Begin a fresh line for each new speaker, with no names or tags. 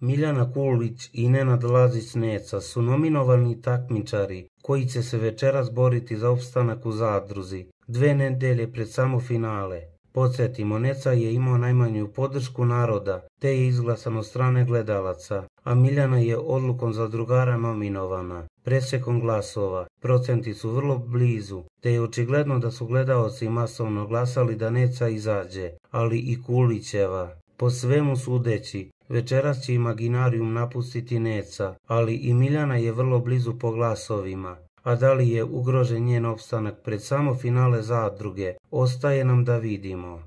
Miljana Kulić i Nenad Lazić-Neca su nominovani takmičari koji će se večeras boriti za opstanak u Zadruzi, 2 nedelje pred samo finale. Podsjetimo, Neca je imao najmanju podršku naroda, te je izglasan od strane gledalaca, a Miljana je odlukom zadrugara nominovana. Presjekom glasova, procenti su vrlo blizu, te je očigledno da su gledaoci masovno glasali da Neca izađe, ali i Kulićeva. Po svemu sudeći, večeras će Imaginarijum napustiti Neca, ali i Miljana je vrlo blizu po glasovima. A da li je ugrožen njen opstanak pred samo finale Zadruge, ostaje nam da vidimo.